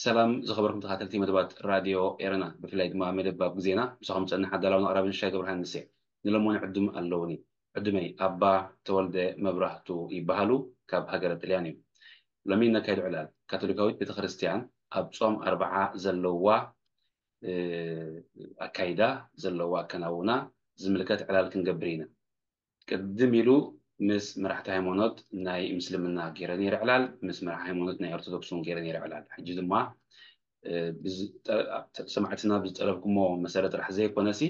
ሰላም ዝኸበርኩም ተኸታተልቲ መደባት ራድዮ ኤረና፣ ብፍላይ ድማ መደብ ኣብ ግዜና፣ ምሳኹም ዝጸንሕ ኣዳላውን ኣቕራብን ሽሻይ ገብረሃንስ እየ። ንሎሞን ዕዱም ኣለውኒ። ዕዱመይ ኣባ ተወልደ መብራህቱ ይበሃሉ፣ ካብ ሃገረ ጥልያን እዮም። ሎሚ ነካይዶ ዕላል ካቶሊካዊት ቤተክርስትያን ኣብ ጾም ኣርብዓ ዘለዋ ኣካይዳ ዘለዋ ኣከናውና ዝምልከት ዕላል ክንገብር ኢና። ቅድም ኢሉ ምስ መራሕቲ ሃይማኖት ናይ ምስልምና ገይረ ነይረ ዕላል፣ ምስ መራሒ ሃይማኖት ናይ ኦርቶዶክስ እውን ገይረ ነይረ ዕላል። ሕጂ ድማ ሰማዕትና ብዝጠለብኩሞ መሰረት ጥራሕ ዘይኮነሲ፣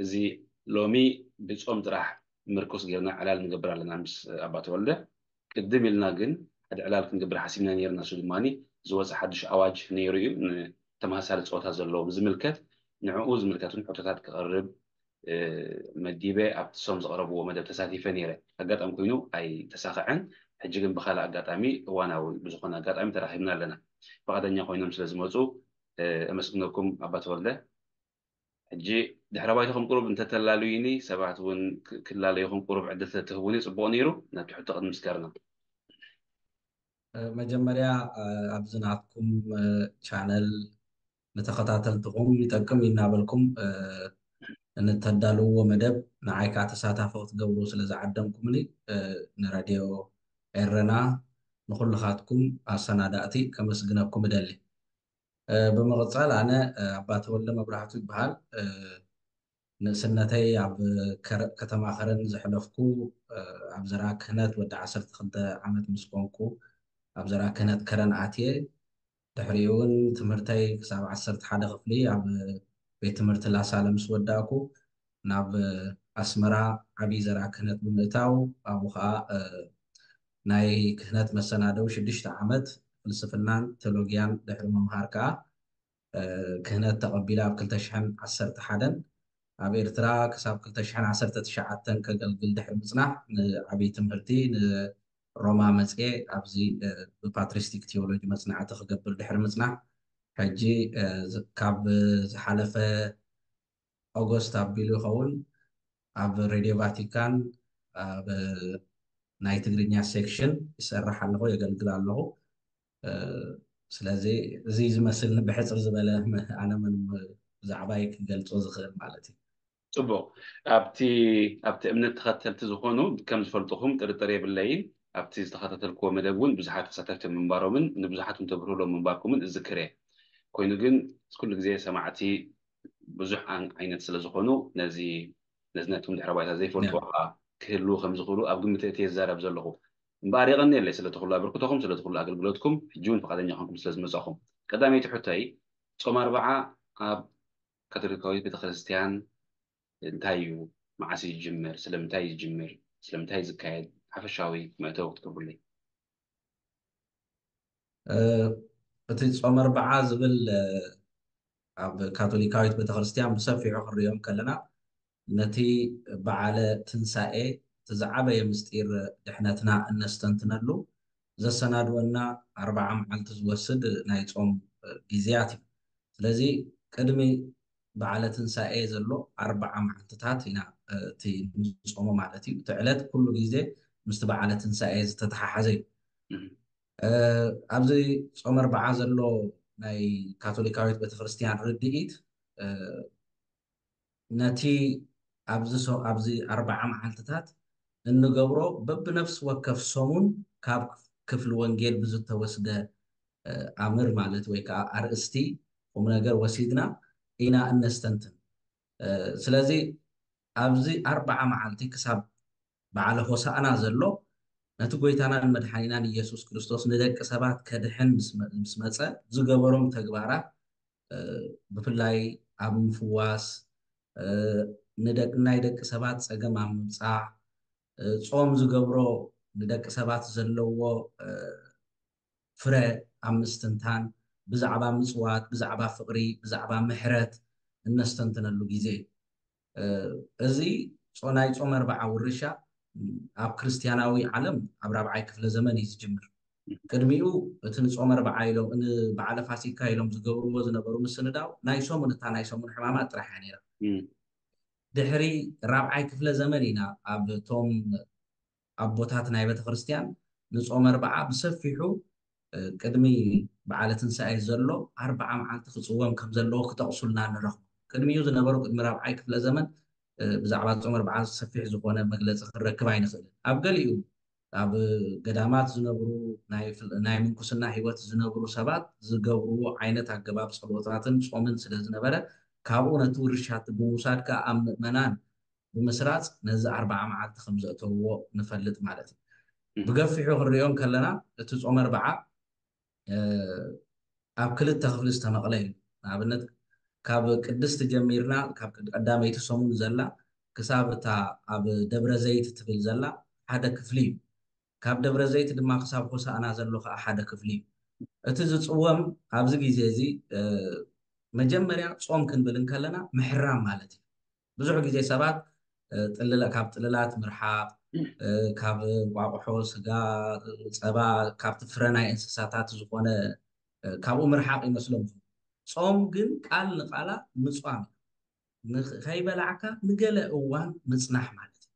እዚ ሎሚ ብጾም ጥራሕ ምርኩስ ጌርና ዕላል ንገብር ኣለና ምስ ኣባ ተወልደ። ቅድም ኢልና ግን ሓደ ዕላል ክንገብር ሓሲብና ነይርና። እሱ ድማ ዝወፀ ሓድሽ ኣዋጅ ነይሩ እዩ፣ ንተመሳሳሊ ፆታ ዘለዎም ዝምልከት፣ ንዕኡ ዝምልከት እውን ሕቶታት ክቐርብ መዲበ ኣብቲ ሶም ዘቕረብዎ መደብ ተሳቲፈ ነይረ። ኣጋጣሚ ኮይኑ ኣይተሳኸዐን። ሕጂ ግን ብካልእ ኣጋጣሚ እዋናዊ ብዝኾነ ኣጋጣሚ ተራኺብና ኣለና። ፍቓደኛ ኮይኖም ስለ ዝመፁ ኣመስግነኩም ኣባ ተወልደ። ሕጂ ድሕረ ባይታኹም ቁሩብ እንተተላልዩኒ፣ ሰባት እውን ክላለዩኹም ቁሩብ ዕድል ተትህቡኒ ጽቡቕ ነይሩ። ነቲ ሕቶ ቅድሚ ምስጋርና። መጀመርያ ኣብዚ ናትኩም ቻነል ንተኸታተልትኹም ይጠቅም እናበልኩም እንተዳልውዎ መደብ ንዓይ ከዓ ተሳታፊ ክትገብሩ ስለ ዝዓደምኩምኒ ንራድዮ ኤረና ንኩልኻትኩም ኣሰናዳእቲ ከመስግነኩም እደሊ። ብምቕፃል ኣነ ኣባ ተወልደ መብራህቱ ይበሃል። ንእስነተይ ኣብ ከተማ ከረን ዘሕለፍኩ፣ ኣብ ዘርኣ ክህነት ወዲ ዓሰርተ ክልተ ዓመት ምስ ኮንኩ ኣብ ዘርኣ ክህነት ከረን ኣትየ። ድሕሪኡ እውን ትምህርተይ ክሳብ ዓሰርተ ሓደ ክፍሊ ኣብ ቤት ትምህርቲ ላሳለ ምስ ወዳእኩ ናብ ኣስመራ ዓብዪ ዘርኣ ክህነት ብምእታው ኣብኡ ከዓ ናይ ክህነት መሰናደዊ ሽዱሽተ ዓመት ፍልስፍናን ቴሎጊያን ድሕሪ ምምሃር ከዓ ክህነት ተቐቢለ ኣብ ክልተ ሽሕን ዓሰርተ ሓደን ኣብ ኤርትራ ክሳብ ክልተ ሽሕን ዓሰርተ ትሽዓተን ከገልግል ድሕሪ ምጽናሕ ንዓብዪ ትምህርቲ ንሮማ መጽየ ኣብዚ ብፓትሪስቲክ ቴዎሎጂ መጽናዕቲ ክገብር ድሕሪ ምጽናሕ ሕጂ ካብ ዝሓለፈ ኦጎስት ኣቢሉ ይኸውን ኣብ ሬድዮ ቫቲካን ኣብ ናይ ትግርኛ ሴክሽን ይሰርሕ ኣለኹ የገልግል ኣለኹ። ስለዚ እዚ ዝመስል ብሕፅር ዝበለ ኣነ ምን ብዛዕባይ ክገልፆ ዝኽእል ማለት እዩ። ጽቡቕ። ኣብቲ ኣብቲ እምነት ተኸተልቲ ዝኾኑ ከም ዝፈልጥኹም ጥርጥር የብለይን። ኣብቲ ዝተኸታተልክዎ መደብ እውን ብዙሓት ተሳተፍቲ ምንባሮምን ንብዙሓት እውን ተብርህሎም ምንባርኩምን እዝክር እየ። ኮይኑ ግን ኩሉ ግዜ ሰማዕቲ ብዙሕ ዓይነት ስለ ዝኾኑ ነዚ ነዚ ናትኩም ድሕረ ባይታ ዘይፈልጥዎ ከዓ ክህልዉ ከም ዝኽእሉ ኣብ ግምት እትየ ዝዛረብ ዘለኹ። እምበኣር የቐንየለይ ስለቲ ኩሉ ኣበርክቶኹም፣ ስለቲ ኩሉ ኣገልግሎትኩም፣ ሕጂ እውን ፍቓደኛ ኮንኩም ስለ ዝመጻኹም። ቀዳመይቲ ሕቶይ፣ ጾም ኣርብዓ ኣብ ካቶሊካዊት ቤተክርስትያን እንታይ እዩ? መዓስ እዩ ዝጅምር? ስለምንታይ እዩ ዝጅምር? ስለምንታይ እዩ ዝካየድ? ሓፈሻዊ መእተዊ ክትገብሩለይ። እቲ ጾም ኣርብዓ ዝብል ኣብ ካቶሊካዊት ቤተክርስትያን ብሰፊሑ ክንሪኦ ከለና ነቲ በዓለ ትንሳኤ እቲ ዝዓበየ ምስጢር ድሕነትና እነስተንትነሉ ዘሰናድወና ኣርብዓ መዓልቲ ዝወስድ ናይ ጾም ግዜያት እዩ። ስለዚ ቅድሚ በዓለ ትንሳኤ ዘሎ ኣርብዓ መዓልትታት ኢና እቲ ንጾሞ ማለት እዩ። እቲ ዕለት ኩሉ ግዜ ምስቲ በዓለ ትንሳኤ ዝተተሓሓዘ እዩ። ኣብዚ ጾም ኣርብዓ ዘሎ ናይ ካቶሊካዊት ቤተክርስትያን ርድኢት ነቲ ኣብዚ ኣብዚ ኣርብዓ መዓልትታት እንገብሮ በብነፍሲ ወከፍ ሰሙን ካብ ክፍሊ ወንጌል ብዝተወስደ ኣምር ማለት ወይ ከዓ ኣርእስቲ ቁም ነገር ወሲድና ኢና እነስተንትን። ስለዚ ኣብዚ ኣርብዓ መዓልቲ ክሳብ በዓለ ሆሳእና ዘሎ ነቲ ጎይታናን መድሓኒናን ኢየሱስ ክርስቶስ ንደቂ ሰባት ከድሕን ምስ መፀ ዝገበሮም ተግባራት ብፍላይ ኣብ ምፍዋስ ናይ ደቂ ሰባት ፀገም ኣብ ምብፃሕ ጾም ዝገብሮ ንደቂ ሰባት ዘለዎ ፍረ ኣብ ምስትንታን ብዛዕባ ምፅዋት ብዛዕባ ፍቕሪ ብዛዕባ ምሕረት እነስተንትነሉ ግዜ እዩ። እዚ ናይ ጾም ኣርብዓ ውርሻ ኣብ ክርስትያናዊ ዓለም ኣብ ራብዓይ ክፍለ ዘመን እዩ ዝጅምር። ቅድሚኡ እቲ ንጾም ኣርብዓ ኢሎም ንበዓለ ፋሲካ ኢሎም ዝገብርዎ ዝነበሩ ምስንዳው ናይ ሰሙን እታ ናይ ሰሙን ሕማማት ጥራሕ እያ ነይራ። ድሕሪ ራብዓይ ክፍለ ዘመን ኢና ኣብ ቶም ኣቦታት ናይ ቤተክርስትያን ንጾም ኣርብዓ ብሰፊሑ ቅድሚ በዓለ ትንሳኤ ዘሎ ኣርባዓ መዓልቲ ክፅወም ከም ዘለዎ ክጠቕሱልና ንረኽቦ። ቅድሚኡ ዝነበሩ ቅድሚ ራብዓይ ክፍለ ዘመን ብዛዕባ ጾም ኣርብዓ ሰፊሕ ዝኾነ መግለፂ ክንረክብ ኣይንኽእልን። ኣብ ገሊኡ ኣብ ገዳማት ዝነብሩ ናይ ምንኩስና ህይወት ዝነብሩ ሰባት ዝገብርዎ ዓይነት ኣገባብ ጸሎታትን ጾምን ስለ ዝነበረ ካብኡ ነቲ ውርሻ እቲ ብምውሳድ ከኣ ኣብ ምእመናን ብምስራጽ ነዚ ኣርብዓ መዓልቲ ከም ዘእተውዎ ንፈልጥ ማለት እዩ። ብገፊሑ ክንሪኦ እንከለና እቲ ጾም ኣርብዓ ኣብ ክልተ ክፍሊ ዝተመቕለ እዩ። ንኣብነት ካብ ቅድስቲ ጀሚርና ካብ ቀዳመይቲ ሰሙን ዘላ ክሳብ እታ ኣብ ደብረ ዘይት ትብል ዘላ ሓደ ክፍሊ እዩ። ካብ ደብረ ዘይት ድማ ክሳብ ሆሳእና ዘሎ ከዓ ሓደ ክፍሊ እዩ። እቲ ዝፅወም ኣብዚ ግዜ እዚ መጀመርያ ጾም ክንብል እንከለና ምሕራም ማለት እዩ። ብዙሕ ግዜ ሰባት ካብ ጥልላት ምርሓቕ፣ ካብ እንቋቑሖ፣ ስጋ፣ ፀባ፣ ካብቲ ፍረ ናይ እንስሳታት ዝኾነ ካብኡ ምርሓቕ ይመስሎም። ጾም ግን ቃል ንቃላ ምፅዋም እዩ። ከይበላዕካ ንገለ እዋን ምፅናሕ ማለት እዩ።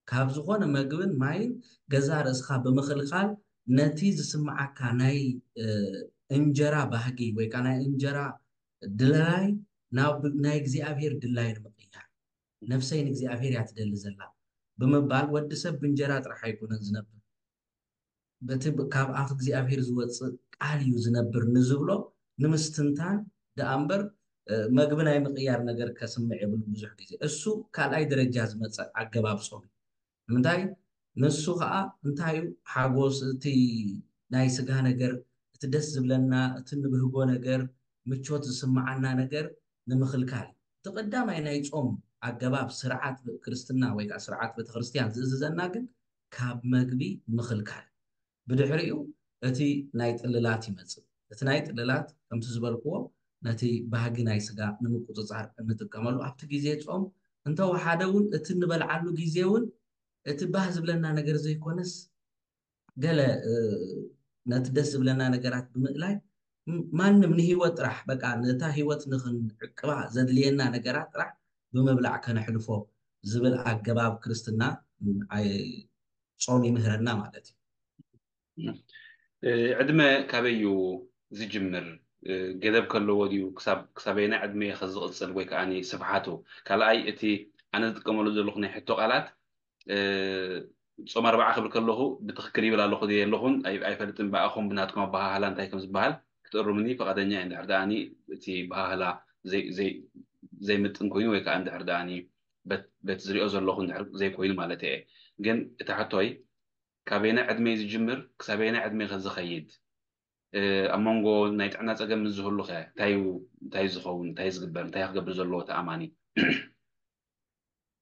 ካብ ዝኾነ መግብን ማይን ገዛ ርእስኻ ብምኽልኻል ነቲ ዝስምዓካ ናይ እንጀራ ባህጊ ወይ ከዓ ናይ እንጀራ ድላይ ናብ ናይ እግዚኣብሔር ድላይ ንምቕያር፣ ነፍሰይ ንእግዚኣብሔር እያ ትደሊ ዘላ ብምባል፣ ወዲ ሰብ ብእንጀራ ጥራሕ ኣይኮነን ዝነብር፣ በቲ ካብ ኣፍ እግዚኣብሔር ዝወፅእ ቃል እዩ ዝነብር ንዝብሎ ንምስትንታን ደኣ እምበር መግቢ ናይ ምቕያር ነገር ከስምዕ የብሉ። ብዙሕ ግዜ እሱ ካልኣይ ደረጃ ዝመፀ ኣገባብ ጾም እዩ። ንምንታይ? ንሱ ከዓ እንታይ እዩ ሓጎስ፣ እቲ ናይ ስጋ ነገር፣ እቲ ደስ ዝብለና፣ እቲ ንብህጎ ነገር፣ ምቾት ዝስምዓና ነገር ንምኽልካል እዩ። እቲ ቀዳማይ ናይ ጾም ኣገባብ ስርዓት ክርስትና ወይ ከዓ ስርዓት ቤተክርስትያን ዝእዝዘና ግን ካብ መግቢ ምኽልካል። ብድሕሪኡ እቲ ናይ ጥልላት ይመጽእ። እቲ ናይ ጥልላት ከምቲ ዝበልክዎ ነቲ ባህጊ ናይ ስጋ ንምቁጽጻር እንጥቀመሉ ኣብቲ ግዜ ጾም እንተወሓደ እውን እቲ እንበልዓሉ ግዜ እውን እቲ ባህ ዝብለና ነገር ዘይኮነስ ገለ ነቲ ደስ ዝብለና ነገራት ብምእላይ ማንም ንህይወት ጥራሕ በቃ ነታ ህይወት ንክንዕቅባ ዘድልየና ነገራት ጥራሕ ብምብላዕ ከነሕልፎ ዝብል ኣገባብ ክርስትና ጾም ይምህረና ማለት እዩ። ዕድመ ካበይ እዩ ዝጅምር? ገደብ ከለዎ ድዩ? ክሳበየናይ ዕድመ ከ ዝቕፅል ወይ ከዓ ስፍሓቱ? ካልኣይ እቲ ኣነ ዝጥቀመሉ ዘለኹ ናይ ሕቶ ቃላት ጾም ኣርባዓ ክብል ከለኹ ብትኽክል ይብል ኣለኹ ዶ የለኹን ኣይፈልጥን። ብኣኹም ብናትኩም ኣበሃህላ እንታይ ከም ዝበሃል ክትእርሙኒ ፈቓደኛ እየ። እንድሕር ደኣ እቲ ኣበሃህላ ዘይምጥን ኮይኑ ወይ ከዓ እንድሕር ደኣ በቲ ዝሪኦ ዘለኹ እንድሕር ዘይኮይኑ ማለት እየ። ግን እቲ ሕቶይ ካበየናይ ዕድመ እዩ ዝጅምር? ክሳበየናይ ዕድመ ከ ዝኸይድ? ኣብ መንጎ ናይ ጥዕና ፀገም ምስ ዝህሉ ከ እንታይ እዩ ዝኸውን? እንታይ ዝግበር? እንታይ ክገብር ዘለዎ እቲ ኣማኒ?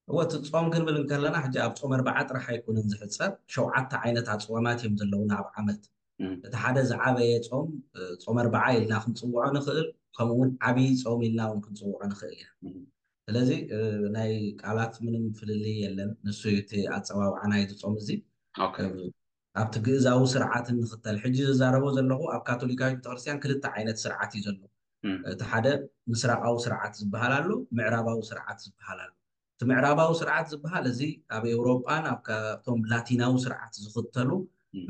እወ እቲ ጾም ክንብል እንከለና ሕጂ ኣብ ጾም ኣርብዓ ጥራሕ ኣይኮነን ዝሕጸር፣ ሸውዓተ ዓይነት ኣጽዋማት እዮም ዘለውና ኣብ ዓመት። እቲ ሓደ ዝዓበየ ጾም ጾም ኣርብዓ ኢልና ክንጽውዖ ንኽእል፣ ከምኡ እውን ዓብዪ ጾም ኢልና እውን ክንጽውዖ ንኽእል ኢና። ስለዚ ናይ ቃላት ምንም ፍልልይ የለን። ንሱ እቲ ኣጸዋውዓ ናይዚ ጾም እዚ ኣብቲ ግእዛዊ ስርዓት እንኽተል። ሕጂ ዝዛረቦ ዘለኹ ኣብ ካቶሊካዊት ቤተክርስትያን ክልተ ዓይነት ስርዓት እዩ ዘሎ። እቲ ሓደ ምስራቃዊ ስርዓት ዝበሃል ኣሎ፣ ምዕራባዊ ስርዓት ዝበሃል ኣሎ። እቲ ምዕራባዊ ስርዓት ዝበሃል እዚ ኣብ ኤውሮጳን ኣብ ካብቶም ላቲናዊ ስርዓት ዝኽተሉ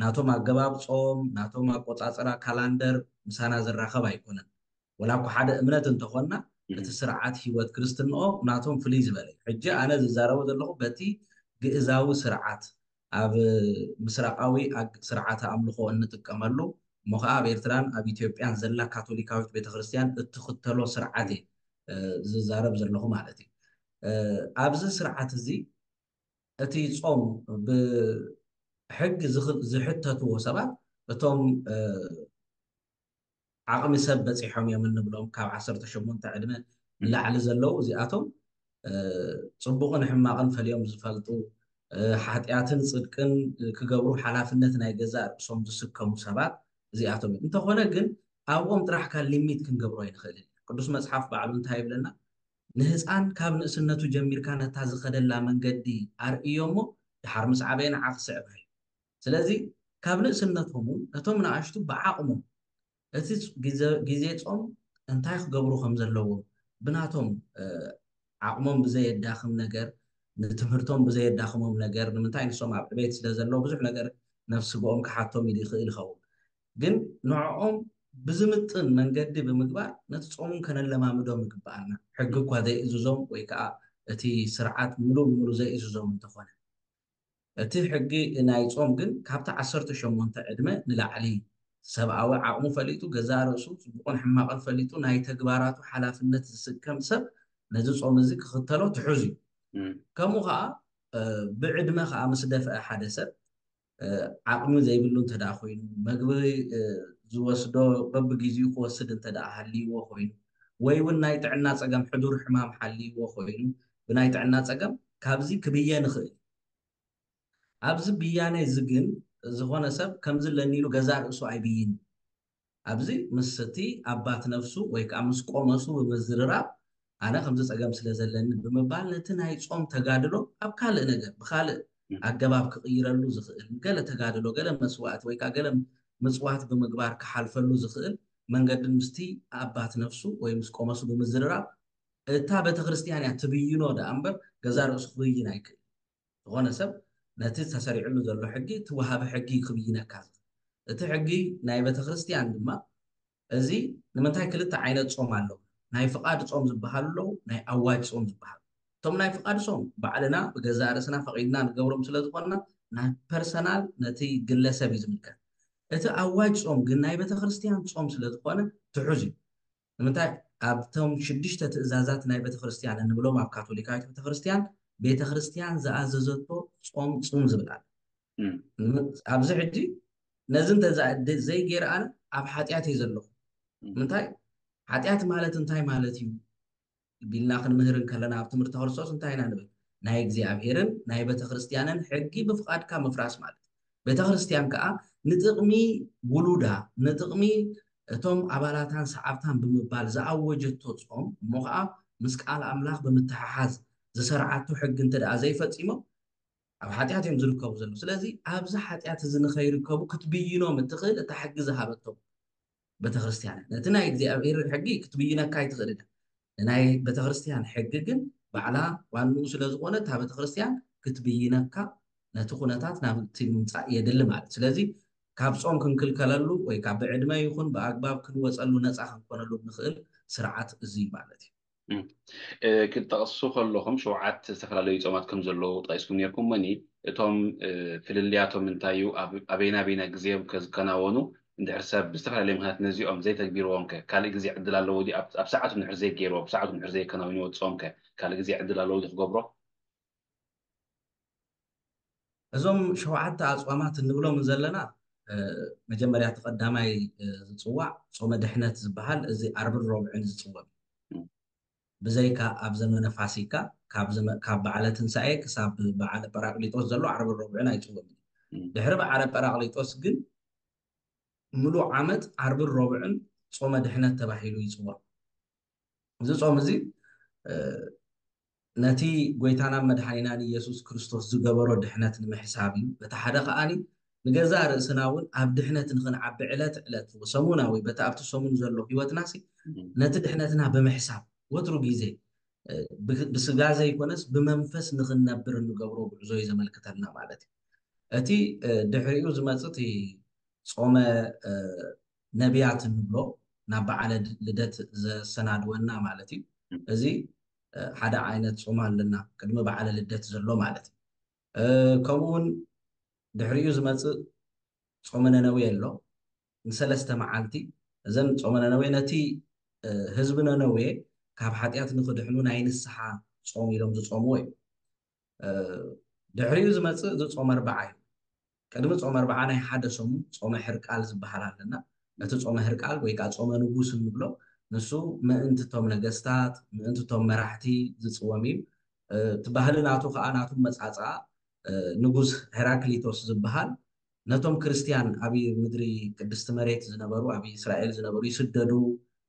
ናቶም ኣገባብ ጾም፣ ናቶም ኣቆጻጽራ ካላንደር ምሳና ዝራኸብ ኣይኮነን። ወላ እኮ ሓደ እምነት እንተኾንና እቲ ስርዓት ህይወት ክርስትንኦ ናቶም ፍልይ ዝበለ እዩ። ሕጂ ኣነ ዝዛረቦ ዘለኹ በቲ ግእዛዊ ስርዓት ኣብ ምስራቃዊ ስርዓተ ኣምልኾ እንጥቀመሉ እሞ ከዓ ኣብ ኤርትራን ኣብ ኢትዮጵያን ዘላ ካቶሊካዊት ቤተክርስትያን እትኽተሎ ስርዓት እየ ዝዛረብ ዘለኹ ማለት እዩ። ኣብዚ ስርዓት እዚ እቲ ጾም ብሕጊ ዝሕተትዎ ሰባት እቶም ዓቕሚ ሰብ በፂሖም እዮም እንብሎም ካብ ዓሰርተ ሸሞንተ ዕድመ ንላዕሊ ዘለዉ እዚኣቶም ፅቡቕን ሕማቕን ፈልዮም ዝፈልጡ ሓጢኣትን ፅድቅን ክገብሩ ሓላፍነት ናይ ገዛእ ርእሶም ዝስከሙ ሰባት እዚኣቶም እዮም። እንተኾነ ግን ኣብኦም ጥራሕካ ሊሚት ክንገብሮ ኣይንኽእልን። ቅዱስ መፅሓፍ ባዕሉ እንታይ ይብለና? ንህፃን ካብ ንእስነቱ ጀሚርካ ነታ ዝኸደላ መንገዲ ኣርእዮ እሞ ድሓር ምስ ዓበየ ንዓ ክስዕባ እዩ። ስለዚ ካብ ንእስነቶም እውን ነቶም ንኣሽቱ ብዓቕሞም እቲ ግዜ ጾም እንታይ ክገብሩ ከም ዘለዎም ብናቶም ዓቕሞም ብዘየዳኽም ነገር ንትምህርቶም ብዘየዳኽሞም ነገር ንምንታይ ንሶም ኣብ ዕቤት ስለ ዘለዉ ብዙሕ ነገር ነፍስግኦም ክሓቶም ይኽእል ይኸውን። ግን ንዕኦም ብዝምጥን መንገዲ ብምግባር ነቲ ጾም ከነለማምዶም ይግበኣና። ሕጊ እኳ ዘይእዝዞም ወይ ከዓ እቲ ስርዓት ምሉእ ብምሉእ ዘይእዝዞም እንተኾነ፣ እቲ ሕጊ ናይ ጾም ግን ካብቲ ዓሰርተ ሸሞንተ ዕድመ ንላዕሊ ሰብኣዊ ዓቕሙ ፈሊጡ፣ ገዛእ ርእሱ ጽቡቕን ሕማቕን ፈሊጡ ናይ ተግባራቱ ሓላፍነት ዝስከም ሰብ ነዚ ጾም እዚ ክኽተሎ ትሑዝ እዩ። ከምኡ ከዓ ብዕድመ ከዓ ምስ ደፍአ ሓደ ሰብ ዓቕሚ ዘይብሉ እንተ ደኣ ኮይኑ፣ መግቢ ዝወስዶ በብግዜኡ ክወስድ እንተ ደኣ ሃልይዎ ኮይኑ፣ ወይ እውን ናይ ጥዕና ጸገም፣ ሕዱር ሕማም ሓልይዎ ኮይኑ፣ ብናይ ጥዕና ጸገም ካብዚ ክብየ ንኽእል። ኣብዚ ብያነ እዚ ግን ዝኾነ ሰብ ከምዚ ኣለኒ ኢሉ ገዛእ ርእሱ ኣይብይን። ኣብዚ ምስ እቲ ኣባት ነፍሱ ወይ ከዓ ምስ ቆመሱ ብምዝርራብ፣ ኣነ ከምዚ ጸገም ስለ ዘለኒ ብምባል ነቲ ናይ ጾም ተጋድሎ ኣብ ካልእ ነገር፣ ብኻልእ ኣገባብ ክቕይረሉ ዝኽእል፣ ገለ ተጋድሎ፣ ገለ መስዋእቲ ወይ ከዓ ገለ ምጽዋት ብምግባር ክሓልፈሉ ዝኽእል መንገድን ምስቲ ኣባት ነፍሱ ወይ ምስ ቆመሱ ብምዝርራብ፣ እታ ቤተክርስትያን እያ ትብይኖ ደኣ እምበር ገዛእ ርእሱ ክብይን ኣይክእል። ዝኾነ ሰብ ነቲ ተሰሪዕሉ ዘሎ ሕጊ፣ እቲ ወሃቢ ሕጊ ክብይነካ ዝኽእል። እቲ ሕጊ ናይ ቤተክርስትያን ድማ፣ እዚ ንምንታይ ክልተ ዓይነት ጾም ኣለዉ? ናይ ፍቓድ ጾም ዝበሃሉ ኣለዉ፣ ናይ ኣዋጅ ጾም ዝበሃሉ። እቶም ናይ ፍቓድ ጾም ባዕልና ብገዛእ ርእስና ፈቒድና ንገብሮም ስለ ዝኾንና፣ ናይ ፐርሰናል፣ ነቲ ግለሰብ እዩ ዝምልከት። እቲ ኣዋጅ ጾም ግን ናይ ቤተክርስትያን ጾም ስለ ዝኾነ ትሑዝ እዩ። ንምንታይ? ኣብቶም ሽዱሽተ ትእዛዛት ናይ ቤተክርስትያን እንብሎም፣ ኣብ ካቶሊካዊት ቤተክርስትያን፣ ቤተክርስትያን ዝኣዘዘቶ ጾም ጽም ዝብል ኣሎ። እም። ን-፣ ኣብዚ ሕጂ ነዚ እንተ ዘ-፣ ዘይገይረ ኣነ ኣብ ሓጢኣት እየ ዘለኹ። እም። ምንታይ? ሓጢኣት ማለት እንታይ ማለት እዩ ቢልና ክንምህር እንከለና፣ ኣብ ትምህርቲ ክርስቶስ እንታይ ኢና ንብል? ናይ እግዚኣብሔርን ናይ ቤተክርስትያንን ሕጊ ብፍቓድካ ምፍራስ ማለት እዩ። ቤተክርስትያን ከኣ ንጥቕሚ ውሉዳ፣ ንጥቕሚ እቶም ኣባላታን ሰዓብታን ብምባል ዝኣወጀቶ ጾም፣ እሞ ኸኣ ምስ ቃል ኣምላኽ ብምትሕሓዝ ዝሰርዓቶ ሕጊ እንተ ደኣ ዘይፈጺሞም፣ ኣብ ሓጢኣት እዮም ዝርከቡ ዘለዉ። ስለዚ ኣብዚ ሓጢኣት እዚ ንኸይርከቡ ክትብይኖም እትኽእል እታ ሕጊ ዝሃበቶም ቤተክርስትያን። ነቲ ናይ እግዚኣብሔር ሕጊ ክትብይነካ ኣይትኽእልን። ንናይ ቤተክርስትያን ሕጊ ግን ባዕላ ዋንኡ ስለ ዝኾነ፣ እታ ቤተክርስትያን ክትብይነካ ነቲ ኩነታት ናብቲ ምምጻእ የድሊ ማለት። ስለዚ ካብ ጾም ክንክልከለሉ ወይ ካብ ብዕድመ ይኹን ብኣግባብ ክንወጸሉ ነጻ ክንኮነሉ ንኽእል ስርዓት እዚ እዩ ማለት እዩ። እም። እ፣ ክትጠቕሱ ከለኹም ሸውዓት ዝተፈላለዩ ጾማት ከም ዘለዉ ጠቒስኩም ነይርኩም። እሞኒ እቶም፣ እ፣ ፍልልያቶም እንታይ እዩ? ኣብ-፣ ኣበይና ኣበይና ግዜዮም ከ ዝከናወኑ? እንድሕር ሰብ ብዝተፈላለየ ምኽንያት ነዚኦም ዘይተግቢርዎም ከ ካልእ ግዜ ዕድል ኣለዎ ድዩ? ኣብ፣ ኣብ ሰዓቱ እንድሕር ዘይገይርዎ፣ ኣብ ሰዓቱ እንድሕር ዘየከናውንዎ ጾም ከ ካልእ ግዜ ዕድል ኣለዎ ድዩ ክገብሮ? እዞም ሸውዓተ ኣጽዋማት እንብሎም ዘለና፣ እ፣ መጀመርያ እቲ ቀዳማይ፣ እ፣ ዝጽዋዕ ጾመ ድሕነት ዝበሃል፣ እዚ ዓርብን ረቡዕን ዝጽወም እዩ። እም። ብዘይካ ኣብ ዘመነ ፋሲካ፣ ካብ ዘመ-፣ ካብ በዓለ ትንሳኤ ክሳብ በዓለ ጳራቅሊጦስ ዘሎ ዓርብን ረቡዕን ኣይጽወምን እዩ። እም። ድሕሪ በዓለ ጳራቅሊጦስ ግን ምሉእ ዓመት ዓርብን ረቡዕን ጾመ ድሕነት ተባሂሉ ይጽዋዕ። እዚ ጾም እዚ፣ እ፣ ነቲ ጎይታናን መድሓኒናን ኢየሱስ ክርስቶስ ዝገበሮ ድሕነት ንምሕሳብ እዩ። በቲ ሓደ ከኣኒ ንገዛእ ርእስና እውን ኣብ ድሕነት ንኽንዓቢ ዕለት ዕለት ሰሙናዊ በቲ ኣብቲ ሰሙን ዘሎ ህይወትናሲ እም። ነቲ ድሕነትና ብምሕሳብ ወትሩ ግዜ፣ እ፣ ብ-፣ ብስጋ ዘይኮነስ ብመንፈስ ንኽንነብር እንገብሮ ጉዕዞ እዩ ዘመልክተልና ማለት እዩ። እቲ፣ እ፣ ድሕሪኡ ዝመጽእ እቲ ጾመ፣ እ፣ ነቢያት እንብሎ ናብ በዓለ ድ-፣ ልደት ዘሰናድወና ማለት እዩ። እም። እዚ፣ እ፣ ሓደ ዓይነት ጾም ኣለና ቅድሚ በዓለ ልደት ዘሎ ማለት እዩ። እ፣ ከምኡ እውን ድሕሪኡ ዝመጽእ ጾመ ነነዌ ኣሎ፣ ንሰለስተ መዓልቲ። እዘን ጾመ ነነዌ ነቲ፣ እ፣ ህዝቢ ነነዌ ካብ ሓጢኣት ንኽድሕኑ ናይ ንስሓ ጾም ኢሎም ዝጾምዎ እዩ። እ፣ ድሕሪኡ ዝመጽእ እዚ ጾመ ኣርብዓ እዩ። ቅድሚ ጾመ ኣርብዓ ናይ ሓደ ሰሙን ጾመ ሕርቃል ዝበሃል ኣለና። ነቲ ጾመ ሕርቃል ወይ ከኣ ጾመ ንጉስ እንብሎ፣ ንሱ ምእንቲ እቶም ነገስታት፣ ምእንቲ እቶም መራሕቲ ዝጽወም እዩ። እ፣ እቲ ባህሊ ናቱ ከኣ፣ ናቱ መጻጽኣ፣ እ፣ ንጉስ ሄራክሊቶስ ዝበሃል፣ ነቶም ክርስትያን ኣብ ምድሪ ቅድስቲ መሬት ዝነበሩ፣ ኣብ እስራኤል ዝነበሩ ይስደዱ፣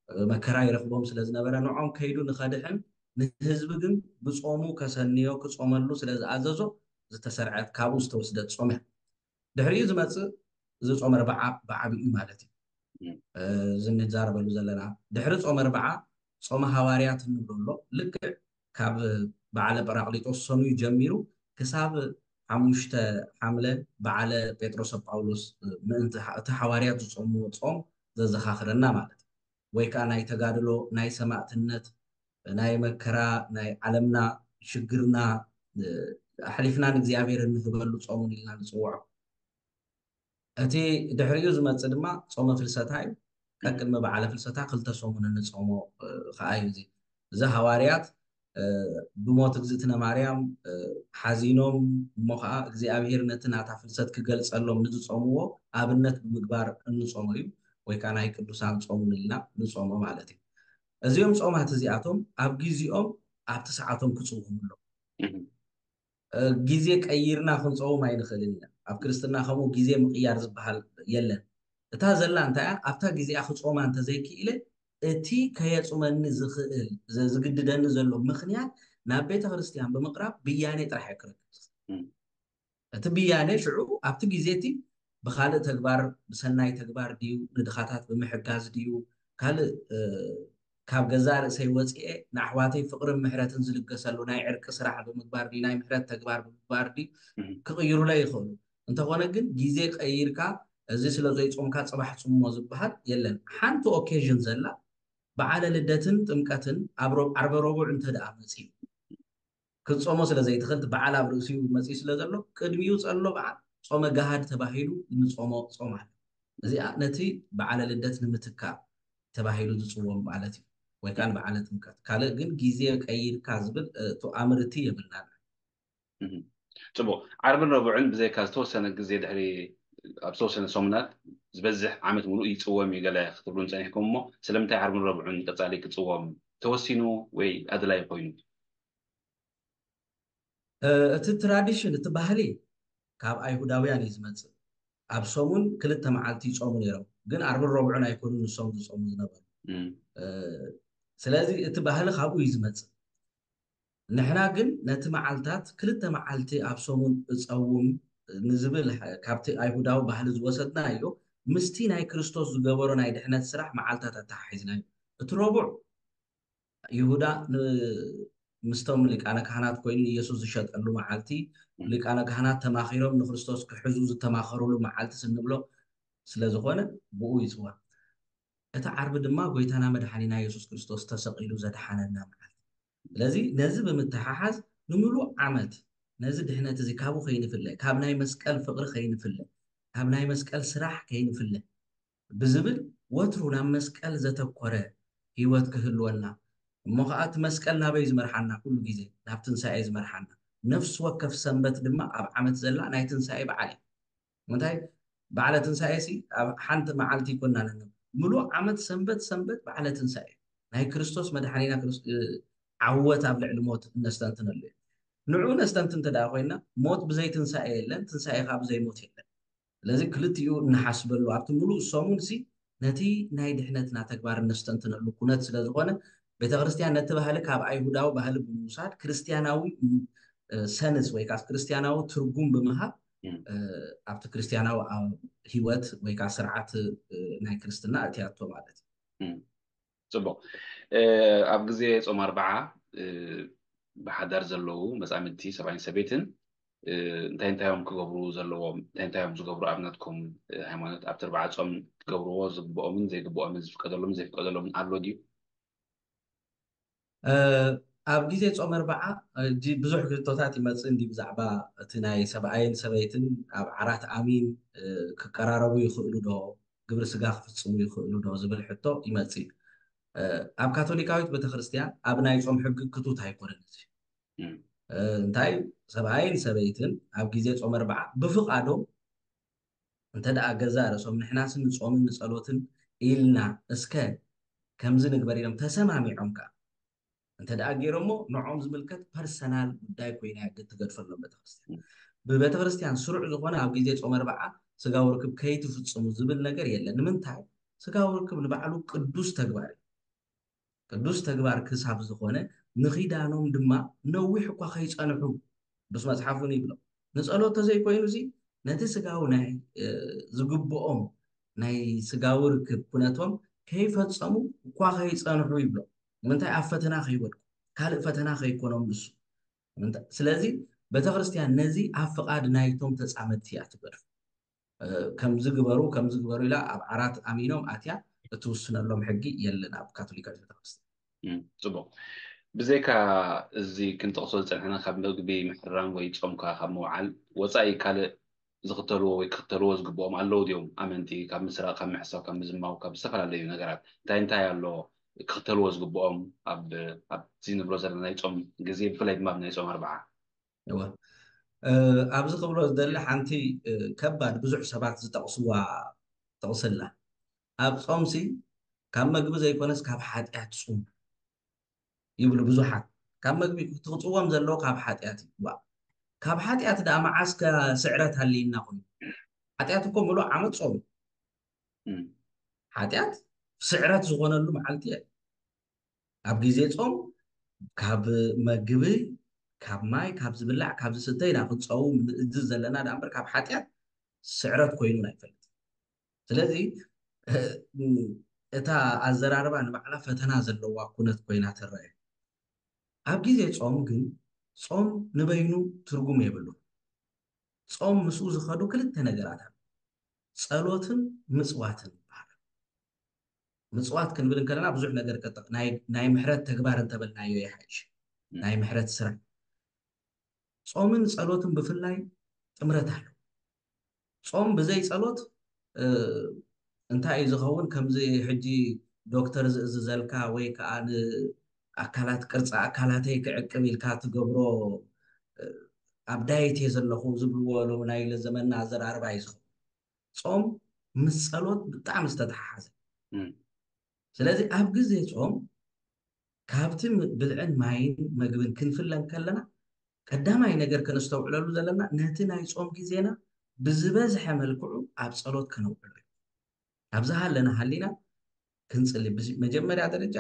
እ፣ መከራ ይረኽቦም ስለ ዝነበረ፣ ንዖም ከይዱ ንኸድሕን፣ ንህዝቢ ግን ብጾሙ ከሰንዮ፣ ክጾመሉ ስለ ዝኣዘዞ ዝተሰርዐት፣ ካብኡ ዝተወስደት ጾም እያ። ድሕሪኡ ዝመጽእ እዚ ጾመ ኣርብዓ ብዓቢኡ ማለት እዩ። እም። እ፣ እዚ እንዛረበሉ ዘለና። ድሕሪ ጾመ ኣርብዓ ጾመ ሃዋርያት እንብሎ ኣሎ። ልክዕ ካብ በዓለ ጳራቅሊጦስ ሰኑይ ጀሚሩ ክሳብ ሓሙሽተ ሓምለ በዓለ ጴጥሮስ ጳውሎስ ምእንቲ እቲ ሓዋርያት ዝጾምዎ ጾም ዘዘኻኽረና ማለት እዩ። ወይ ከዓ ናይ ተጋድሎ፣ ናይ ሰማእትነት፣ ናይ መከራ፣ ናይ ዓለምና ሽግርና ኣሕሊፍና ንእግዚኣብሔር እንህበሉ ጾሙን ኢልና ንጽውዖ። እቲ ድሕሪኡ ዝመጽእ ድማ ጾመ ፍልሰታ እዩ። ቀቅድሚ በዓለ ፍልሰታ ክልተ ሰሙን እንጾሞ ከዓ እዩ። እዚ እዚ ሃዋርያት ብሞት እግዝእትነ ማርያም ሓዚኖም፣ እሞ ከዓ እግዚኣብሔር ነቲ ናታ ፍልሰት ክገልጸሎም ንዝጾምዎ ኣብነት ብምግባር እንጾሞ እዩ። ወይ ከዓ ናይ ቅዱሳን ጾሙን ኢልና ንጾሞ ማለት እዩ። እዚኦም ጾማት እዚኣቶም ኣብ ግዜኦም ኣብቲ ሰዓቶም ክጽውሙ ኣለዎም። ግዜ ቀይርና ክንፀውም ኣይንኽእልን ኢና። ኣብ ክርስትና ከምኡ ግዜ ምቕያር ዝበሃል የለን። እታ ዘላ እንታይ እያ? ኣብታ ግዜኣ ክጾማ እንተዘይክኢለ እቲ ከየጹመኒ ዝኽእል ዝግድደኒ ዘሎ ምኽንያት ናብ ቤተ ክርስቲያን ብምቕራብ ብያኔ ጥራሕ እየ ክረክብ። እቲ ብያኔ ሽዑ ኣብቲ ግዜ እቲ ብኻልእ ተግባር፣ ብሰናይ ተግባር ድዩ፣ ንድኻታት ብምሕጋዝ ድዩ፣ ካልእ ካብ ገዛእ ርእሰይ ወፂኤ ንኣሕዋተይ ፍቕርን ምሕረትን ዝልገሰሉ ናይ ዕርቂ ስራሕ ብምግባር ድዩ፣ ናይ ምሕረት ተግባር ብምግባር ድዩ ክቕይሩለይ ይኽእሉ። እንተኾነ ግን ግዜ ቀይርካ እዚ ስለ ዘይጾምካ ጽባሕ ጽሞ ዝበሃል የለን። ሓንቲ ኦኬዥን ዘላ በዓለ ልደትን ጥምቀትን ኣብ ዓርበ ረቡዕ እንተ ደኣ መጺኡ ክትጾሞ ስለ ዘይትኽእል እቲ በዓል ኣብ ርእሲኡ መጺኡ ስለ ዘሎ ቅድሚኡ ዘሎ በዓል ጾመ ገሃድ ተባሂሉ እንጾሞ ጾም ኣሎ። እዚኣ ነቲ በዓለ ልደት ንምትካእ ተባሂሉ ዝጽወም ማለት እዩ። ወይ ከዓ ንበዓለ ጥምቀት ካልእ ግን ግዜ ቀይርካ ዝብል እቱ ኣምርቲ የብልናን። ጽቡቕ። ዓርብን ረቡዕን ብዘይካ ዝተወሰነ ግዜ ድሕሪ ኣብ ዝተወሰነ ሰሙናት ዝበዝሕ ዓመት ሙሉእ ይጽወም እዩ ገለ ክትብሉን ጸኒሕኩም እሞ ስለምንታይ ዓርብን ረቡዕን ቀጻሊ ክጽወም ተወሲኑ ወይ ኣድላይ ኮይኑ? እቲ ትራዲሽን እቲ ባህሊ ካብ ኣይሁዳውያን እዩ ዝመፅእ። ኣብ ሰሙን ክልተ መዓልቲ ይጾሙ ነይሮም፣ ግን ዓርብን ረቡዕን ኣይኮኑን ንሶም ዝጾሙ ዝነበሩ። ስለዚ እቲ ባህሊ ካብኡ እዩ ዝመፅእ። ንሕና ግን ነቲ መዓልታት ክልተ መዓልቲ ኣብ ሰሙን እጸውም ንዝብል ካብቲ ኣይሁዳዊ ባህሊ ዝወሰድናዮ ምስቲ ናይ ክርስቶስ ዝገበሮ ናይ ድሕነት ስራሕ መዓልታት ኣተሓሒዝናዮ። እቲ ረቡዕ ይሁዳ ምስቶም ሊቃነ ካህናት ኮይኑ ንኢየሱስ ዝሸጠሉ መዓልቲ፣ ሊቃነ ካህናት ተማኺሮም ንክርስቶስ ክሕዙ ዝተማኸሩሉ መዓልቲ ስንብሎ ስለዝኾነ ብኡ ይፅዋዕ። እቲ ዓርቢ ድማ ጎይታና መድሓኒና የሱስ ክርስቶስ ተሰቒሉ ዘድሓነና መዓልቲ። ስለዚ ነዚ ብምትሓሓዝ ንምሉእ ዓመት ነዚ ድሕነት እዚ ካብኡ ከይንፍለ፣ ካብ ናይ መስቀል ፍቕሪ ከይንፍለ፣ ካብ ናይ መስቀል ስራሕ ከይንፍለ ብዝብል ወትሩ ናብ መስቀል ዘተኮረ ህይወት ክህልወና እሞ ከዓ እቲ መስቀል ናበይ ዝመርሓና? ኩሉ ግዜ ናብ ትንሳኤ ዝመርሓና። ነፍሲ ወከፍ ሰንበት ድማ ኣብ ዓመት ዘላ ናይ ትንሳኤ በዓል እዩ። ምንታይ በዓለ ትንሳኤ ሲ ኣብ ሓንቲ መዓልቲ ይኮና ነነ ምሉእ ዓመት ሰንበት ሰንበት በዓለ ትንሳኤ ናይ ክርስቶስ መድሓኒና ዓወት ኣብ ልዕሊ ሞት እነስተንትነሉ እዩ። ንዑ ነስተንትን እንተ ኮይና ሞት ብዘይ ትንሳኤ የለን፣ ትንሳኤ ከዓ ብዘይ ሞት የለን። ስለዚ ክልቲኡ እንሓስበሉ ኣብቲ ሙሉእ ሰሙን ሲ ነቲ ናይ ድሕነትና ተግባር እነስተንትነሉ ኩነት ስለዝኾነ ቤተክርስትያን ነቲ ባህሊ ካብ ኣይሁዳዊ ባህሊ ብምውሳድ ክርስትያናዊ ሰንስ ወይ ከዓ ክርስትያናዊ ትርጉም ብምሃብ ኣብቲ ክርስትያናዊ ህይወት ወይ ከዓ ስርዓት ናይ ክርስትና እትያቶ ማለት እዩ። ፅቡቅ። ኣብ ግዜ ፆም ኣርባዓ ብሓዳር ዘለዉ መፃምድቲ ሰብኣይን ሰበይትን እንታይ እንታይ እዮም ክገብሩ ዘለዎም? እንታይ እንታይ እዮም ዝገብሩ? ኣብነትኩም ሃይማኖት ኣብቲ ኣርባዓ ፆም ክገብርዎ ዝግብኦምን ዘይግብኦምን ዝፍቀደሎምን ዘይፍቀደሎምን ኣሎ ድዩ? ኣብ ግዜ ፆም ኣርባዓ ብዙሕ ክልቶታት ይመፅእ እንዲ ብዛዕባ እቲ ናይ ሰብኣይን ሰበይትን ኣብ ዓራት ኣሚን ክቀራረቡ ይኽእሉ ዶ፣ ግብሪ ስጋ ክፍፅሙ ይኽእሉ ዶ ዝብል ሕቶ ይመፅእ። ኣብ ካቶሊካዊት ቤተክርስትያን ኣብ ናይ ፆም ሕጊ ክቱት ኣይኮነን። እዚ እንታይ ሰብኣይን ሰበይትን ኣብ ግዜ ፆም ኣርባዓ ብፍቓዶም እንተ ደኣ ገዛ ርእሶም ንሕናስ ንጾምን ንጸሎትን ኢልና እስከ ከምዚ ንግበር ኢሎም ተሰማሚዖም ከኣ እንተ ደኣ ገይሮሞ ንዖም ዝምልከት ፐርሰናል ጉዳይ ኮይና ትገድፈሎም ቤተክርስትያን። ብቤተክርስትያን ስሩዕ ዝኾነ ኣብ ግዜ ጾም ኣርባዓ ስጋዊ ርክብ ከይትፍጽሙ ዝብል ነገር የለን። ንምንታይ? ስጋዊ ርክብ ንባዕሉ ቅዱስ ተግባር እዩ። ቅዱስ ተግባር ክሳብ ዝኾነ ንኺዳኖም ድማ ነዊሕ እኳ ከይጸንሑ ቅዱስ መጽሓፍ እውን ይብሎ። ንጸሎት ተዘይኮይኑ እዚ ነቲ ስጋዊ ናይ ዝግብኦም ናይ ስጋዊ ርክብ ኩነቶም ከይፈጸሙ እኳ ከይጸንሑ ይብሎ። ንምንታይ? ኣብ ፈተና ከይወድቁ፣ ካልእ ፈተና ከይኮኖም ንሱ። ስለዚ ቤተክርስትያን ነዚ ኣብ ፍቓድ ናይቶም ተጻመድቲ እያ ትገድፎ። ከምዚ ግበሩ ከምዚ ግበሩ ኢላ ኣብ ዓራት ኣሚኖም ኣትያ እትውስነሎም ሕጊ የለን ኣብ ካቶሊካዊት ቤተክርስትያን። ጽቡቕ። ብዘይካ እዚ ክንጠቕሶ ዝጸንሐና ካብ ምግቢ ምሕራም ወይ ጾምካ ካብ ምውዓል ወጻኢ ካልእ ዝኽተልዎ ወይ ክኽተልዎ ዝግብኦም ኣለዉ ድዮም? ኣመንቲ ካብ ምስራቕ፣ ካብ ምሕሳው፣ ካብ ምዝማው፣ ካብ ዝተፈላለዩ ነገራት እንታይ እንታይ ኣሎ ክኽተልዎ ዝግብኦም ኣብ ኣብዚ ንብሎ ዘለና ናይ ጾም ግዜ፣ ብፍላይ ድማ ኣብ ናይ ጾም ኣርብዓ? እወ፣ ኣብዚ ክብሎ ዝደሊ ሓንቲ ከባድ ብዙሕ ሰባት ዝጠቕስዋ ጥቕስላ ኣብ ጾምሲ ካብ መግቢ ዘይኮነስ ካብ ሓጢኣት ጹም ይብሉ ብዙሓት። ካብ መግቢ ትቕጽዎም ዘለዎ ካብ ሓጢኣት እዩ። ካብ ሓጢኣት ደኣ መዓስ ከ ስዕረት ሃልይና ኮይኑ? ሓጢኣት እኮ ምሉእ ዓመት ጾም እዩ። ሓጢኣት ስዕረት ዝኾነሉ መዓልቲ እየ። ኣብ ግዜ ጾም ካብ መግቢ ካብ ማይ ካብ ዝብላዕ ካብ ዝስተ ኢና ክንጸውም ንእዝዝ ዘለና ደኣ እምበር ካብ ሓጢኣት ስዕረት ኮይኑ ኣይፈልጥን። ስለዚ እታ ኣዘራርባ ንባዕላ ፈተና ዘለዋ ኩነት ኮይና ትረአ። ኣብ ግዜ ጾም ግን ጾም ንበይኑ ትርጉም የብሉ። ጾም ምስኡ ዝኸዱ ክልተ ነገራት ኣሎ፣ ጸሎትን ምጽዋትን ይበሃል። ምጽዋት ክንብል እንከለና ብዙሕ ነገር ናይ ምሕረት ተግባር እንተበልናዮ ይሓይሽ፣ ናይ ምሕረት ስራሕ። ጾምን ጸሎትን ብፍላይ ጥምረት ኣሎ። ጾም ብዘይ ጸሎት እንታይ እዩ ዝኸውን? ከምዚ ሕጂ ዶክተር ዝእዝዘልካ ወይ ከዓ ንኣካላት ቅርፂ ኣካላተይ ክዕቅብ ኢልካ ትገብሮ ኣብ ዳየት እየ ዘለኹ ዝብልዎ ሎም ናይ ለዘመና ኣዘራርባ እዩ ዝኸውን። ጾም ምስ ጸሎት ብጣዕሚ ዝተተሓሓዘ። ስለዚ ኣብ ግዜ ጾም ካብቲ ብልዕን ማይን መግብን ክንፍለ እንከለና ቀዳማይ ነገር ከነስተውዕለሉ ዘለና ነቲ ናይ ጾም ግዜና ብዝበዝሐ መልክዑ ኣብ ጸሎት ከነውዕሎ እዩ። ኣብዚ ሃለና ሃሊና ክንጽሊ መጀመርያ ደረጃ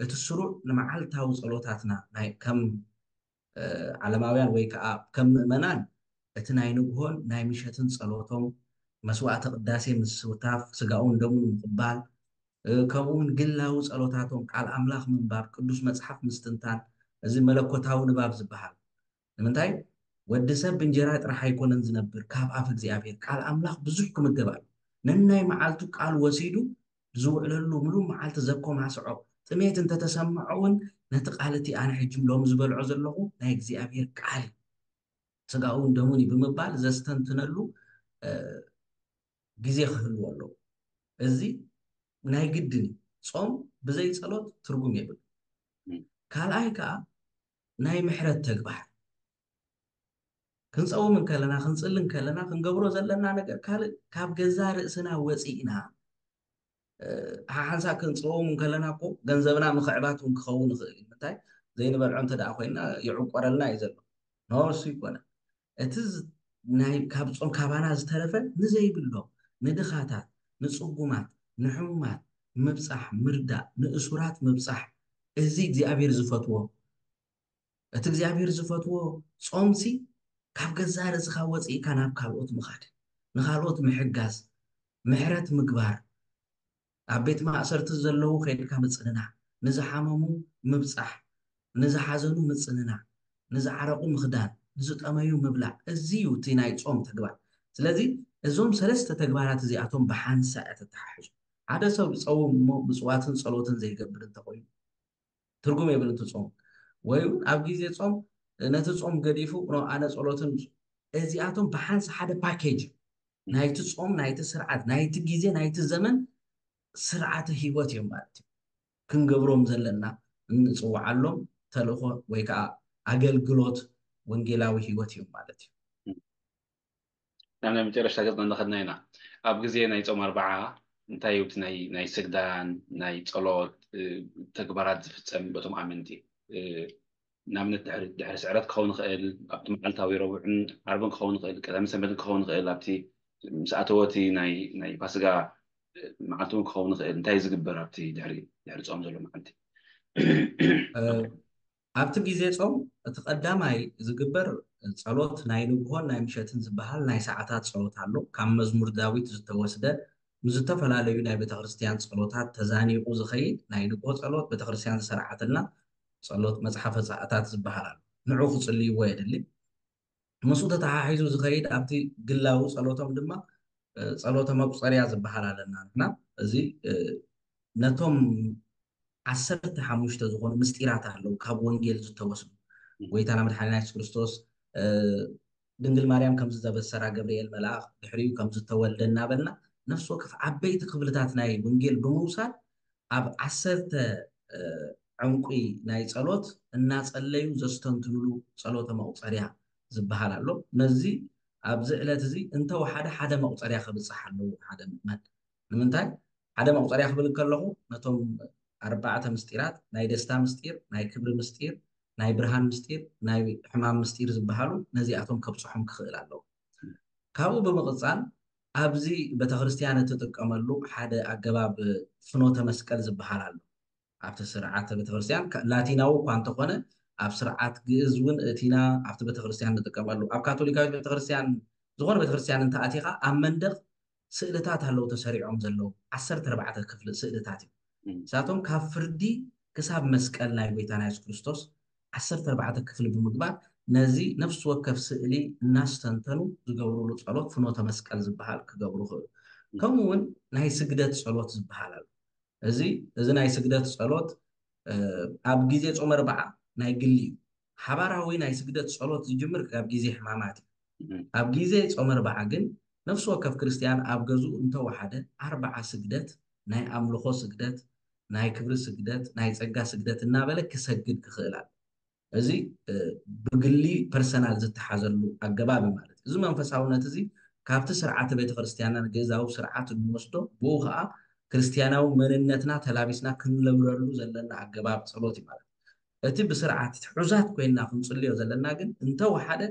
እቲ ስሩዕ ንመዓልታዊ ጸሎታትና ከም ዓለማውያን ወይ ከዓ ከም ምእመናን እቲ ናይ ንግሆን ናይ ምሸትን ጸሎቶም መስዋዕተ ቅዳሴ ምስታፍ ስጋኡን ደሙን ምቕባል ከምኡ እውን ግላዊ ጸሎታቶም ቃል ኣምላኽ ምንባብ ቅዱስ መጽሓፍ ምስትንታን እዚ መለኮታዊ ንባብ ዝበሃል ንምንታይ ወዲ ሰብ ብእንጀራ ጥራሕ ኣይኮነን ዝነብር ካብ ኣፍ እግዚኣብሔር ቃል ኣምላኽ ብዙሕ ክምገብ ኣሎ ነናይ መዓልቱ ቃል ወሲዱ ዝውዕለሉ ምሉእ መዓልቲ ዘኮማስዖ ጥሜት እንተተሰምዖ እውን ነቲ ቃል እቲ ኣነ ሕጂ ሎም ዝበልዖ ዘለኹ ናይ እግዚኣብሔር ቃል እዩ ስጋውን ደሙን እዩ ብምባል ዘስተንትነሉ ግዜ ክህልዎ ኣለዎ እዚ ናይ ግድን እዩ ጾም ብዘይ ጸሎት ትርጉም የብሉ ካልኣይ ከዓ ናይ ምሕረት ተግባር ክንፀውም እንከለና ክንፅሊ እንከለና ክንገብሮ ዘለና ነገር ካልእ ካብ ገዛ ርእስና ወፂእና ሓሓንሳ ክንፀውም እንከለና እኮ ገንዘብና ምኽዕባት እውን ክኸውን ይኽእል እዩ ምንታይ ዘይንበልዖ እንተ ደኣ ኮይና ይዕቆረልና እዩ ዘሎ ኖርሱ ይኮነ እቲ ካብ ጾም ካባና ዝተረፈ ንዘይብሎም ንድኻታት ንፅጉማት ንሕሙማት ምብፃሕ ምርዳእ ንእሱራት ምብፃሕ እዚ እግዚኣብሔር ዝፈትዎ እቲ እግዚኣብሔር ዝፈትዎ ጾምሲ ካብ ገዛ ርእስኻ ወፂእካ ናብ ካልኦት ምኻድ ንኻልኦት ምሕጋዝ ምሕረት ምግባር ኣብ ቤት ማእሰርቲ ዘለዉ ከይድካ ምፅንናዕ ንዝሓመሙ ምብፃሕ ንዝሓዘኑ ምፅንናዕ ንዝዓረቑ ምኽዳን ንዝጠመዩ ምብላዕ እዚ እዩ እቲ ናይ ጾም ተግባር ስለዚ እዞም ሰለስተ ተግባራት እዚኣቶም ብሓንሳ እያ ተተሓሕዞ ሓደ ሰብ ዝፀውም እሞ ምፅዋትን ፀሎትን ዘይገብር እንተኮይኑ ትርጉም የብልን እቲ ጾም ወይ እውን ኣብ ግዜ ጾም ነቲ ጾም ገዲፉ ኣነ ጸሎትን እዚኣቶም ብሓንስ ሓደ ፓኬጅ ናይቲ ጾም ናይቲ ስርዓት ናይቲ ግዜ ናይቲ ዘመን ስርዓተ ህይወት እዮም ማለት እዩ ክንገብሮም ዘለና እንፅውዓሎም ተልእኮ ወይ ከዓ ኣገልግሎት ወንጌላዊ ህይወት እዮም ማለት እዩ ናብ ናይ መጨረሽታ ገፅና እንዳኸድና ኢና ኣብ ግዜ ናይ ጾም ኣርባዓ እንታይ እዩ ናይ ናይ ስግዳን ናይ ጸሎት ተግባራት ዝፍጸም በቶም ኣመንቲ ንኣብነት ድሕሪ ድሕሪ ስዕረት ክኸውን ይኽእል ኣብቲ መዓልታዊ ረቡዕን ዓርብን ክኸውን ይኽእል ቀዳሚ ሰንበትን ክኸውን ይኽእል ኣብቲ ምስ ኣተወ እቲ ናይ ናይ ፋስጋ መዓልቲ እውን ክኸውን ይኽእል እንታይ ዝግበር ኣብቲ ድሕሪ ድሕሪ ጾም ዘሎ መዓልቲ ኣብቲ ግዜ ጾም እቲ ቀዳማይ ዝግበር ጸሎት ናይ ንግሆን ናይ ምሸትን ዝበሃል ናይ ሰዓታት ጸሎት ኣሎ። ካብ መዝሙር ዳዊት ዝተወስደ ምስ ዝተፈላለዩ ናይ ቤተክርስትያን ጸሎታት ተዛኒቑ ዝኸይድ ናይ ንግሆ ጸሎት ቤተክርስትያን ዝሰርዓትልና ጸሎት መጽሓፈ ሰዓታት ዝበሃል ኣሎ። ንዑ ክጽልይዎ የድሊ። ምስኡ ተተሓሒዙ ዝኸይድ ኣብቲ ግላዊ ጸሎቶም ድማ ጸሎተ መቁጸርያ ዝበሃል ኣለና ንሕና። እዚ ነቶም ዓሰርተ ሓሙሽተ ዝኾኑ ምስጢራት ኣለዉ ካብ ወንጌል ዝተወስዱ። ጎይታና መድሓኒና የሱስ ክርስቶስ ድንግል ማርያም ከም ዝተበሰራ ገብርኤል መልኣኽ ድሕሪኡ ከም ዝተወልደ እናበልና ነፍሲ ወከፍ ዓበይቲ ክፍልታት ናይ ወንጌል ብምውሳድ ኣብ ዓሰርተ ዕንቁ ናይ ጸሎት እናጸለዩ ዘስተንትኑሉ ጸሎተ መቁጸርያ ዝበሃል ኣሎ። ነዚ ኣብዚ ዕለት እዚ እንተወሓደ ሓደ መቁጸርያ ከብጽሕ ኣለዎ ሓደ ምእመን። ንምንታይ ሓደ መቁጸርያ ክብል ከለኹ ነቶም ኣርባዕተ ምስጢራት ናይ ደስታ ምስጢር፣ ናይ ክብሪ ምስጢር፣ ናይ ብርሃን ምስጢር፣ ናይ ሕማም ምስጢር ዝበሃሉ ነዚኣቶም ከብጽሖም ክኽእል ኣለዎ። ካብኡ ብምቕጻል ኣብዚ ቤተክርስትያን እትጥቀመሉ ሓደ ኣገባብ ፍኖተ መስቀል ዝበሃል ኣሎ። ኣብቲ ስርዓተ ቤተክርስትያን ላቲናዊ እኳ እንተኾነ ኣብ ስርዓት ግእዝ እውን እቲና ኣብቲ ቤተክርስትያን ንጥቀመሉ። ኣብ ካቶሊካዊት ቤተክርስትያን ዝኾነ ቤተክርስትያን እንተኣቲኻ ኣብ መንደቕ ስእልታት ኣለዉ ተሰሪዖም ዘለዉ ዓሰርተ ኣርባዕተ ክፍሊ ስእልታት እዩ። ንሳቶም ካብ ፍርዲ ክሳብ መስቀል ናይ ጎይታና የሱስ ክርስቶስ ዓሰርተ ኣርባዕተ ክፍሊ ብምግባር ነዚ ነፍሲ ወከፍ ስእሊ እናስተንተኑ ዝገብሩሉ ጸሎት ፍኖተ መስቀል ዝበሃል ክገብሩ ክእሉ። ከምኡ እውን ናይ ስግደት ጸሎት ዝበሃል ኣሎ። እዚ እዚ ናይ ስግደት ጸሎት ኣብ ግዜ ጾመ ኣርብዓ ናይ ግሊ እዩ። ሓባራዊ ናይ ስግደት ጸሎት ዝጅምር ካብ ግዜ ሕማማት እዩ። ኣብ ግዜ ጾመ ኣርብዓ ግን ነፍሲ ወከፍ ክርስትያን ኣብ ገዝኡ እንተወሓደ ኣርብዓ ስግደት፣ ናይ ኣምልኾ ስግደት፣ ናይ ክብሪ ስግደት፣ ናይ ጸጋ ስግደት እናበለ ክሰግድ ክኽእል ኣሎ። እዚ ብግሊ ፐርሰናል ዝተሓዘሉ ኣገባብ እዩ ማለት እዩ። እዚ መንፈሳውነት እዚ ካብቲ ስርዓተ ቤተክርስትያንና ግእዛዊ ስርዓት እንወስዶ ብኡ ከዓ ክርስትያናዊ መንነትና ተላቢስና ክንለብረሉ ዘለና ኣገባብ ጸሎት እዩ ማለት እዩ። እቲ ብስርዓት ትሑዛት ኮይንና ክንጽልዮ ዘለና ግን እንተወሓደ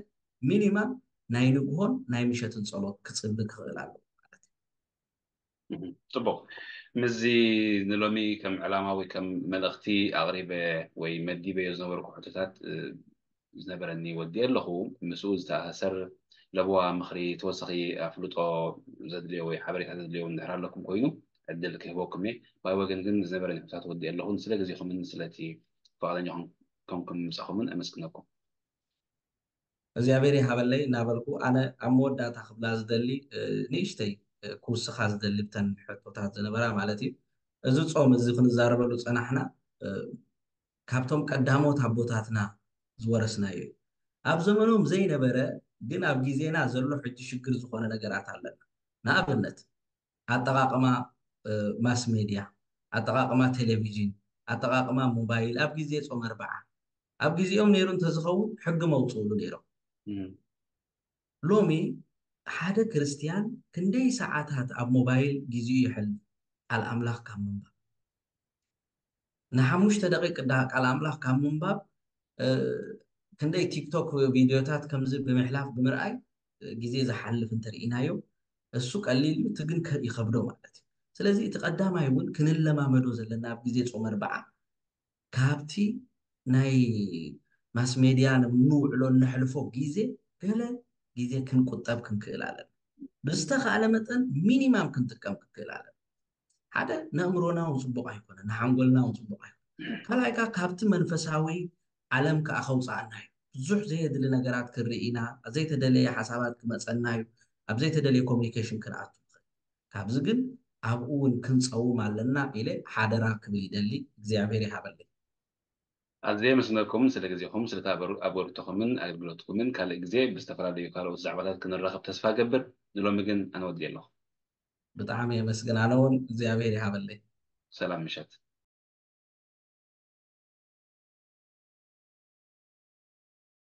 ሚኒማም ናይ ንግሆን ናይ ምሸትን ጸሎት ክጽሊ ክኽእል ኣለዎ ማለት እዩ። ጽቡቕ። ምስዚ ንሎሚ ከም ዕላማ ወይ ከም መልእኽቲ ኣቕሪበ ወይ መዲበዮ ዝነበርኩ ሕቶታት ዝነበረኒ ወዲኤ ኣለኹ። ምስኡ ዝተኣሳሰር ለበዋ፣ ምኽሪ፣ ተወሳኺ ኣፍልጦ ዘድልዮ ወይ ሓበሬታ ዘድልዮ እንድሕር ኣለኩም ኮይኑ ዕድል ክህበኩም እየ። ብኣይ ወገን ግን ዝነበረኒ ሕቶታት ወዲኤ ኣለኹ። ስለ ግዜኹምን ስለቲ ፍቓደኛ ኮንኩም ምጻኹምን ኣመስግነኩም። እግዚኣብሔር ይሃበለይ እናበልኩ ኣነ ኣብ መወዳእታ ክብላ ዝደሊ ንእሽተይ ክውስኻ ዝደሊ ብተን ሕቶታት ዝነበራ ማለት እዩ። እዚ ጾም እዚ ክንዛረበሉ ጸናሕና ካብቶም ቀዳሞት ኣቦታትና ዝወረስናዮ እዩ። ኣብ ዘመኖም ዘይነበረ ግን ኣብ ግዜና ዘሎ ሕጂ ሽግር ዝኾነ ነገራት ኣለና። ንኣብነት ኣጠቓቕማ ማስ ሜድያ፣ ኣጠቓቕማ ቴሌቪዥን፣ ኣጠቓቕማ ሞባይል ኣብ ግዜ ጾም ኣርብዓ ኣብ ግዜኦም ነይሩ እንተዝኸውን ሕጊ መውፅእሉ ነይሮም። ሎሚ ሓደ ክርስትያን ክንደይ ሰዓታት ኣብ ሞባይል ግዜኡ የሕልፍ ቃል ኣምላኽ ካብ ምንባብ ንሓሙሽተ ደቂቅ ቃል ኣምላኽ ካብ ምንባብ ክንደይ ቲክቶክ ቪድዮታት ከምዚ ብምሕላፍ ብምርኣይ ግዜ ዝሓልፍ እንተርኢናዮ እሱ ቀሊል እዩ፣ እቲ ግን ይኸብዶ ማለት እዩ። ስለዚ እቲ ቀዳማይ እውን ክንለማመዶ ዘለና ኣብ ግዜ ጾም ኣርብዓ ካብቲ ናይ ማስ ሜድያ ንውዕሎ ነሕልፎ ግዜ ገለ ግዜ ክንቁጠብ ክንክእል ኣለና። ብዝተኻእለ መጠን ሚኒማም ክንጥቀም ክንክእል ኣለና። ሓደ ንእምሮና እውን ፅቡቕ ኣይኮነ፣ ንሓንጎልና እውን ፅቡቕ ኣይኮነ። ካልኣይ ከዓ ካብቲ መንፈሳዊ ዓለም ከዓ ከውፅኣና እዩ። ብዙሕ ዘየድሊ ነገራት ክንርኢ ኢና፣ ዘይተደለየ ሓሳባት ክመፀና እዩ፣ ኣብ ዘይተደለየ ኮሚኒኬሽን ክንኣቱ ንኽእል። ካብዚ ግን ኣብኡ እውን ክንፀውም ኣለና ኢለ ሓደራ ክብል ይደሊ። እግዚኣብሔር ይሃበለይ። ኣዝየ የመስግነኩም ስለ ግዜኹም፣ ስለቲ ኣበርክቶኹምን ኣገልግሎትኩምን። ካልእ ግዜ ብዝተፈላለዩ ካልኦት ዛዕባታት ክንራኸብ ተስፋ ገብር። ንሎሚ ግን ኣነ ወዲኤ ኣለኹ። ብጣዕሚ የመስግን። ኣነ እውን እግዚኣብሔር ይሃበለይ። ሰላም ምሸት።